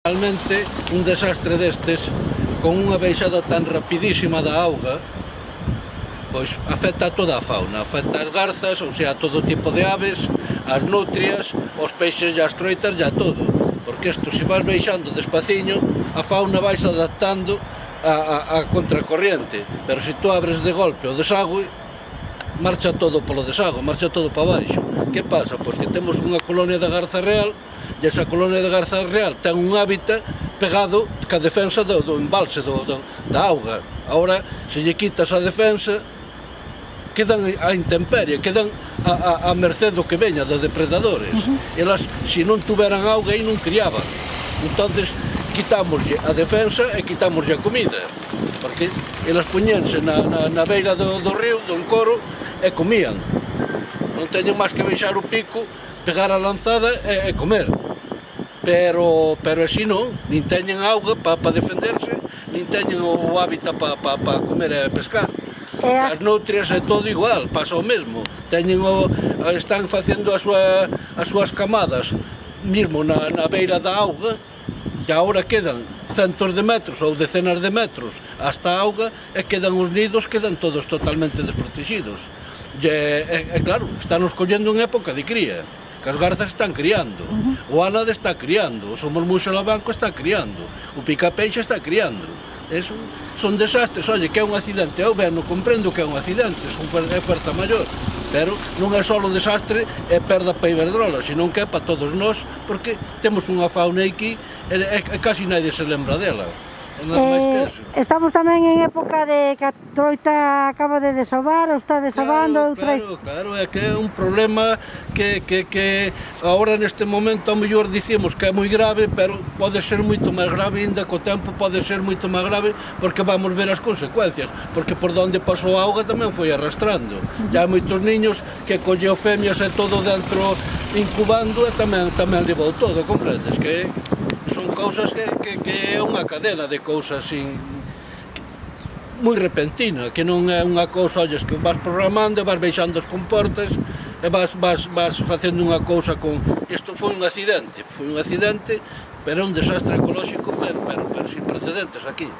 Realmente, un desastre destes, con unha baixada tan rapidísima da auga, pois afecta a toda a fauna, afecta as garzas, ou sea, a todo tipo de aves, as nutrias, os peixes e as troitas e a todo. Porque isto, se vas baixando despaciño, a fauna vais adaptando a contracorriente, pero se tú abres de golpe o desagüe, marcha todo polo desagüe, marcha todo para baixo. Que pasa? Pois que temos unha colonia de garza real, e esa colonia de garza real ten un hábitat pegado ca defensa do embalse, da auga. Agora, se lle quitas a defensa, quedan a intemperie, quedan a merced do que veña, de depredadores. Elas, se non tuveran auga, aí non criaban. Entonces, quitámoslle a defensa e quitámoslle a comida, porque elas poñense na beira do río, do encoro, e comían. Non teñen máis que baixar o pico, pegar a lanzada e comer. Pero así non, nin teñen auga para defenderse, nin teñen o hábitat para comer e pescar. As nutrias é todo igual, pasa o mesmo. Están facendo as súas camadas mesmo na beira da auga, e agora quedan centos de metros ou decenas de metros hasta a auga, e quedan os nidos, quedan todos totalmente desprotegidos. E claro, estamos collendo en época de cría, que as garzas están criando, o ánade está criando, o somormuxo labanco está criando, o picapeixe está criando. Son desastres, oye, que é un accidente, eu ben, non comprendo que é un accidente, é fuerza maior, pero non é só o desastre, é perda para Iberdrola, senón que é para todos nós, porque temos unha fauna aquí e casi nadie se lembra dela. Estamos tamén en época de que a troita acaba de desovar, ou está desovando. Claro, é que é un problema que agora neste momento a mellor dicimos que é moi grave, pero pode ser moito máis grave, ainda co tempo pode ser moito máis grave, porque vamos ver as consecuencias, porque por onde pasou a auga tamén foi arrastrando. Ya hai moitos niños que colleu femias e todo dentro incubando e tamén levou todo, comprendes? Que son cousas que é unha cadena de cousas moi repentina, que non é unha cousa, olles, que vas programando e vas baixando os comportes e vas facendo unha cousa con... Isto foi un accidente, pero é un desastre ecolóxico, pero sin precedentes aquí.